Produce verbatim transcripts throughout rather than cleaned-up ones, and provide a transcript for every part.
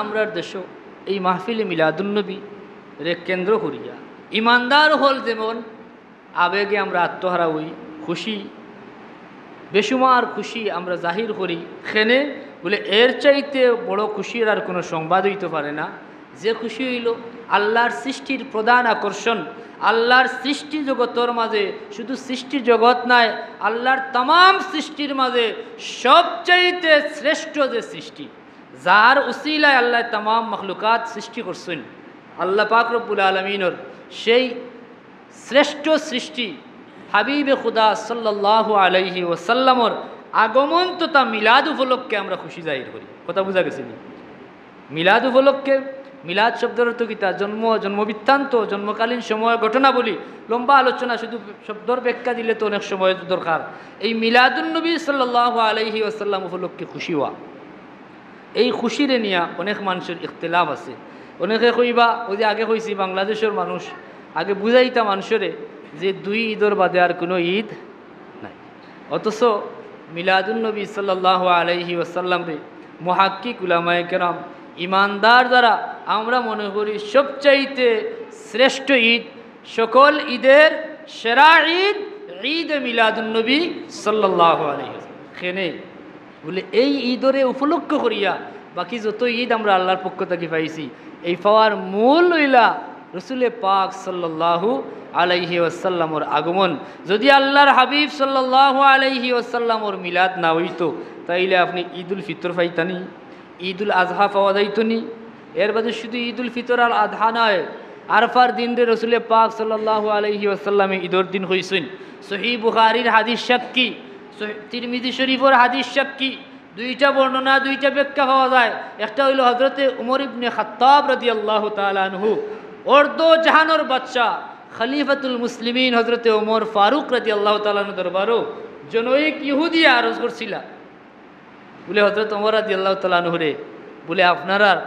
আমরার দেশো এই মাহফিলে মিলাদুন্নবীরে কেন্দ্র করিয়া ইমানদার অকল যেমন আবেগে আমরা আত্মহারা অই, খুশি, বেসুমার খুশি আমরা জাহির করি, কেনে বুলে এর চাইতে বড় খুশির আর কুনু সংবাদ অইতো পারে না। যে খুশি অইলো আল্লার সৃষ্টির প্রধান আকর্ষণ, আল্লার সৃষ্টি জগতর মাঝে শুধু সৃষ্টি জগত নায়, আল্লার তামাম সৃষ্টির মাঝে সবচাইতে শ্রেষ্ঠ যে সৃষ্টি, যার উসিলায় আল্লায় তামাম মখলুকাত সৃষ্টি করছইন, আল্লা পাক রব্বুল আলামিনর সেই শ্রেষ্ঠ সৃষ্টি হাবিবে খুদা সাল্লাল্লাহু আলাইহি ওয়াসাল্লামর আগমন তথা মিলাদ উপলক্ষে আমরা খুশি জাহির করি। কথা বুঝা গেছে নি? মিলাদ উপলক্ষে, মিলাদ শব্দর অর্থ কিতা? জন্ম, জন্মবৃত্তান্ত, জন্মকালীন সময়, ঘটনাবলী, লম্বা আলোচনা, শুধু শব্দর ব্যাখ্যা দিলে তো অনেক সময় দরকার। এই মিলাদুন্নবী সাল্লাল্লাহু আলাইহি ওয়াসাল্লাম উপলক্ষে খুশি অওয়া, এই খুশিরে নিয়া অনেক মানষর ইখতিলাফ আছে। অনেকে কইবা, ওই যে আগে কইছি, বাংলাদেশর মানুষ, আগে বুঝাইতা মানষরে যে দুই ঈদর বাদে আর কুনু ঈদ নাই। অথচ মিলাদুন্নবী সাল্লাল্লাহু আলাইহি ওয়াসাল্লামরে মুহাক্কিক উলামায়ে কেরাম, ইমানদার যারা, আমরা মনে করি সবচাইতে শ্রেষ্ঠ ঈদ, সকল ঈদের সেরা ঈদ, ঈদে মিলাদুন্নবী সাল্লাল্লাহু আলাইহি ওয়াসাল্লাম। কেনে বুলে এই ঈদরে উপলক্ষ করিয়া বাকি যত ঈদ আমরা আল্লার পক্ষ থাকি পাইছি, এই পাওয়ার মূল অইলা রসুলে পাক সাল্লাল্লাহু আলাইহি ওয়াসাল্লামর আগমন। যদি আল্লার হাবিব সাল্লাল্লাহু আলাইহি ওয়াসাল্লামর মিলাদ না অইতো, তাইলে আপনে ঈদুল ফিতর পাইতা নি, ঈদুল আজহা পাওয়া যাইতো নি। এর বাদে শুধু ঈদুল ফিতর আর আজহা নায়, আরফার দিনরে রসুলে পাক সাল্লাল্লাহু আলাইহি ওয়াসাল্লামে ঈদর দিন কইছইন। সহিহ বুখারীর হাদিস সাক্ষী, সহি-, তিরমিজি শরীফর হাদিস সাক্ষী, দুইটা বর্ণনা, দুইটা ব্যাখ্যা পাওয়া যায়। একটা অইলো হজরতে উমর ইবনে খাত্তাব রাদিয়াল্লাহু তাআলা আনহু, অর্ধ জাহানর বাদশা, খলিফাতুল মুসলিমিন হজরতে উমর ফারুক রাদিয়াল্লাহু তাআলা আনহু দরবারো জনৈক ইহুদিয়ে আরজ করছিলা, বুলে, হজরত উমর রাদিয়াল্লাহু তাআলা আনহুরে, বুলে, আপনারার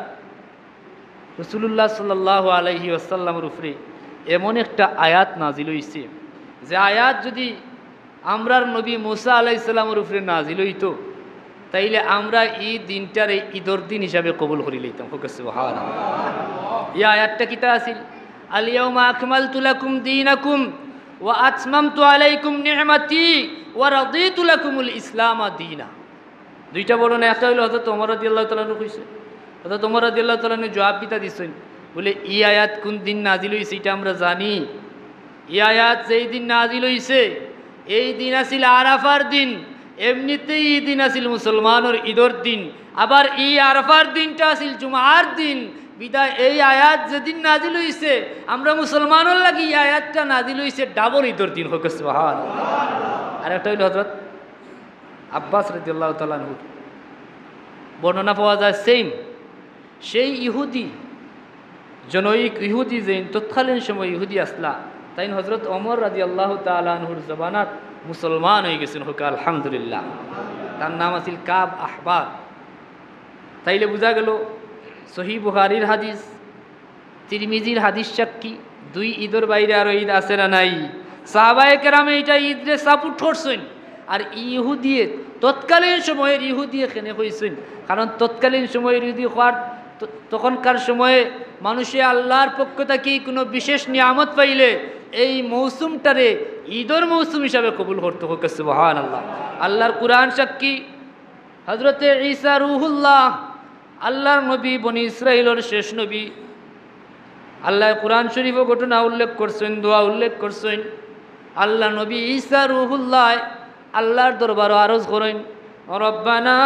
রসুলুল্লাহ সাল্লাল্লাহু আলাইহি ওয়াসাল্লামর উপরে এমন একটা আয়াত নাজিল অইছে, যে আয়াত যদি আমরার নবী মুসা আলাইহিস সালামর উপরে নাজিল অইতো, তাইলে আমরা ই দিনটারে ঈদর দিন হিসাবে কবুল করি লইতাম। কউক্কা সুবহানাল্লাহ। ই আয়াতটা কিতা আছিল? আল ইয়াউমা আকমালতু লাকুম দীনাকুম ওয়া আতমামতু আলাইকুম নি'মাতি ওয়া রাদিতু লাকুমুল ইসলামা দীনা। দুইটা বর্ণনা, একটা অইলো হজরত ওমর রাদিয়াল্লাহু তাআলা আনহু কইছে, হজরত ওমর রাদিয়াল্লাহু তাআলা আনহু জবাব কিতা দিছইন, বুলে, ই আয়াত কুন দিন নাজিল অইছে ইটা আমরা জানি। ই আয়াত যেই দিন নাজিল অইছে, এই দিন আছিল আরাফার দিন। এমনিতেই ই দিন আছিল মুসলমানর ঈদর দিন। আবার ই আরাফার দিনটা আছিল জুমার দিন। বিদায় এই আয়াত যেদিন নাজিল অইছে, আমরা মুসলমানর লাগি ই আয়াতটা নাজিল অইছে ডাবল ঈদর দিন। কউক্কা সুবহানাল্লাহ। আর একটা অইলো হজরত আব্বাস রাদিয়াল্লাহু তাআলা আনহুর বর্ণনা পাওয়া যায় সেম। সেই ইহুদি, জনৈক ইহুদি, যেইন তৎকালীন সময় ইহুদি আছলা, তাইন হজরত ওমর রাদিয়াল্লাহু তাআলা আনহুর জমানাত মুসলমান অইগেছইন। কউক্কা আলহামদুলিল্লাহ। তার নাম আছিল কাব আহবার। তাইলে বুঝা গেলো সহিহ বুখারীর হাদিস, তিরমিজির হাদিস সাক্ষী, দুই ঈদর বাইরে আরো ঈদ আছে না নাই? সাহাবায়ে কেরামে ইটা ঈদরে সাপোর্ট করছইন। আর ইহুদিয়ে, তৎকালীন সময়ের ইহুদিয়ে কেনে কইছইন? কারণ তৎকালীন সময়ের ইহুদি কওয়ার, ত-, তখনকার সময়ে মানুষে আল্লার পক্ষ থাকি কুনু বিশেষ নিয়ামত পাইলে এই মৌসুমটারে ঈদর মৌসুম হিসাবে কবুল করতো। কউক্কা সুবহানাল্লাহ। আল্লার কুরআন সাক্ষী, হজরতে ঈসা রুহুল্লাহ, আল্লার নবী, বনি ইসরাইলর শেষ নবী। আল্লায় কুরআন শরীফো ঘটনা উল্লেখ করছইন, দোয়া উল্লেখ করছইন। আল্লার নবী ঈসা রুহুল্লায় আল্লার দরবারো আরজ করইন, রব্বানা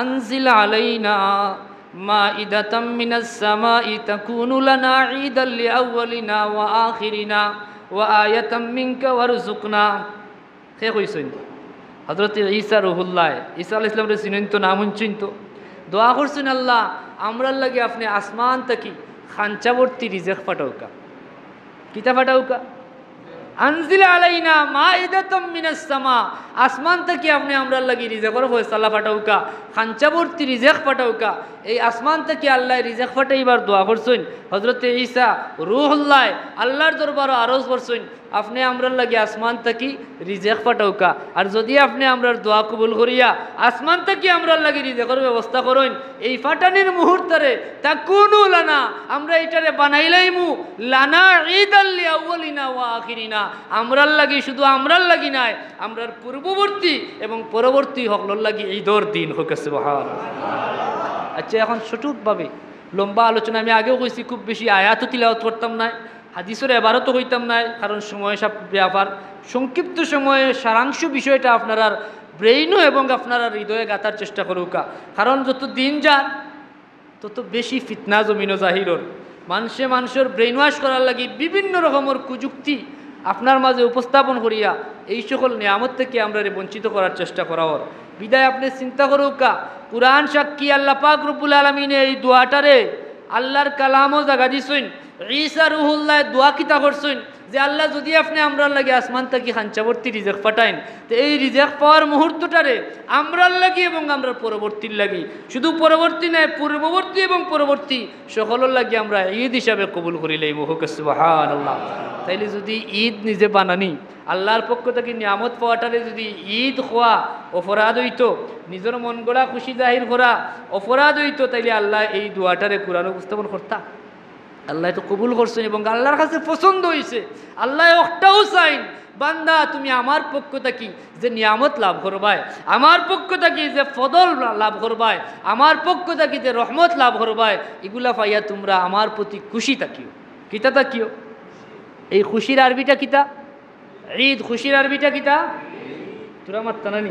আনজিল আলাইনা মাইদাতাম মিনাস সামাই তাকুনু লানা ঈদাল লিআউয়ালিনা ওয়া আখিরিনা ওয়া আয়াতাম মিনকা ওয়ারজুকনা। কে কইছইন? হজরতে ঈসা রুহুল্লায়। ঈসা আলাইহিস সালামরে চিনইন তো, নাম হুনছইন তো। দোয়া করছইন, আল্লাহ, আমরার লাগি আপনে আসমান থাকি খাঞ্চা ভর্তি রিজেক পাঠাউক্কা। কিতা পাঠাউক্কা? আনজিল আলাইনা মাইদাতাম মিনাস সামা। আসমান থাকি আপনে আমরার লাগি রিজেকর ফয়সালা পাঠাউক্কা, খাঞ্চা ভর্তি রিজেক পাঠাউক্কা। এই আসমান থাকি আল্লায় রিজেক পাঠাইবার দোয়া করছইন। হজরতে ঈসা রুহুল্লায় আল্লার দরবারো আরজ করছইন, আপনে আমরার লাগি আসমান থাকি রিজেক পাঠাউকা। আর যুদি আপনে আমরার দোয়া কবুল করিয়া আসমান থাকি আমরার লাগি রিজেকর ব্যবস্থা করইন, এই পাঠানির মুহূর্তরে তাকুনু লানা, আমরা ইটারে বানাইলাইমু, লানা ঈদাল লিআউয়ালিনা ওয়া আখিরিনা, আমরার লাগি, শুধু আমরার লাগি নায়, আমরার পূর্ববর্তী এবং পরবর্তী হকলর লাগি ঈদর দিন। হউক সুবহানাল্লাহ। আচ্ছা, এখন সঠিকভাবে লম্বা আলোচনা, আমি আগেও কইছি, খুব বেশি আয়াতও তিলাওয়াত করতাম নায়, হাদিসর এবারও তো কইতাম নায়, কারণ সময় সাপ-, ব্যাপার। সংক্ষিপ্ত সময়ে সারাংশ বিষয়টা আপনারার ব্রেইনো এবং আপনারার হৃদয়ে গাঁথার চেষ্টা করউকা। কারণ যত দিন যার, তত বেশি ফিতনা জমিনো জাহির অর। মানষে মানষর brainwash করার লাগি বিভিন্ন রকমর কুযুক্তি আপনার মাঝে উপস্থাপন করিয়া এই সকল নিয়ামত থাকি আমরারে বঞ্চিত করার চেষ্টা করা অর। বিদায় আপনে চিন্তা করউকা, কুরআন সাক্ষী, আল্লাহ পাক রব্বুল আলামিনে এই দোয়াটারে আল্লার কালামো জাগা দিছইন। ঈসা রুহুল্লায় দোয়া কিতা করছইন যে, "আল্লাহ, যুদি আপনে আমরার লাগি আসমান থাকি খাঞ্চাবর্তী রিজেক পাঠাইন, তে এই রিজেক পাওয়ার মুহূর্তটারে আমরার লাগি এবং আমরার পরবর্তীর লাগি, শুধু পরবর্তী নায়, পূর্ববর্তী এবং পরবর্তী সকলর লাগি আমরা ঈদ হিসাবে কবুল করিলাইমু।" হউক সুবহানাল্লাহ। তাইলে যুদি ঈদ নিজে বানানি, আল্লার পক্ষ থাকি নিয়ামত পাওয়াটারে যুদি ঈদ কওয়া অপরাধ অইতো, নিজর মন গড়া খুশি জাহির করা অপরাধ অইতো, তাইলে আল্লায় এই দোয়াটারে কুরআনো উপস্থাপন করতা? আল্লায় তো কবুল করছইন এবং আল্লার কাছে পছন্দ অইছে। আল্লায় অকটাউ চাইন, "বান্দা, তুমি আমার পক্ষ থাকি যে নিয়ামত লাভ করবায়, আমার পক্ষ থাকি যে ফজল লাভ করবায়, আমার পক্ষ থাকি যে রহমত লাভ করবায়, ইগুলা পাইয়া তুমরা আমার প্রতি খুশি থাকিও।" কিতা থাকিও? এই খুশির আরবিটা কিতা? ঈদ। খুশির আরবিটা কিতা? তোরা মাততা না নি?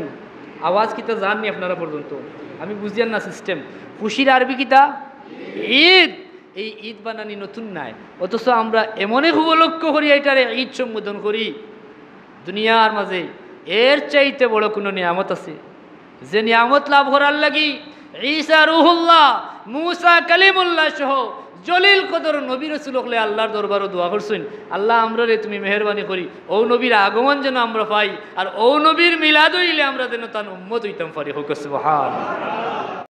আওয়াজ কিতা যার নি আপনারা পর্যন্ত? আমি বুঝিয়ার না system। খুশির আরবি কিতা? ঈদ। এই ঈদ বানানি নতুন নায়, অথচ আমরা এমন এক উপলক্ষ করি, এটারে ঈদ সম্বোধন করি। দুনিয়ার মাঝে এর চাইতে বড় কুনু নিয়ামত আছে? যে নিয়ামত লাভ করার লাগি ঈসা রুহুল্লাহ, মুসা কালিমুল্লাহ সহ জলিল কদর নবী রসুল অকলে আল্লার দরবারো দোয়া করছইন, "আল্লাহ, আমরারে তুমি মেহেরবানি করি, অউ নবীর আগমন যেন আমরা পাই, আর অউ নবীর মিলাদ অইলে আমরা যেন তান উম্মত অইতাম পারি।" হউক সুবহান।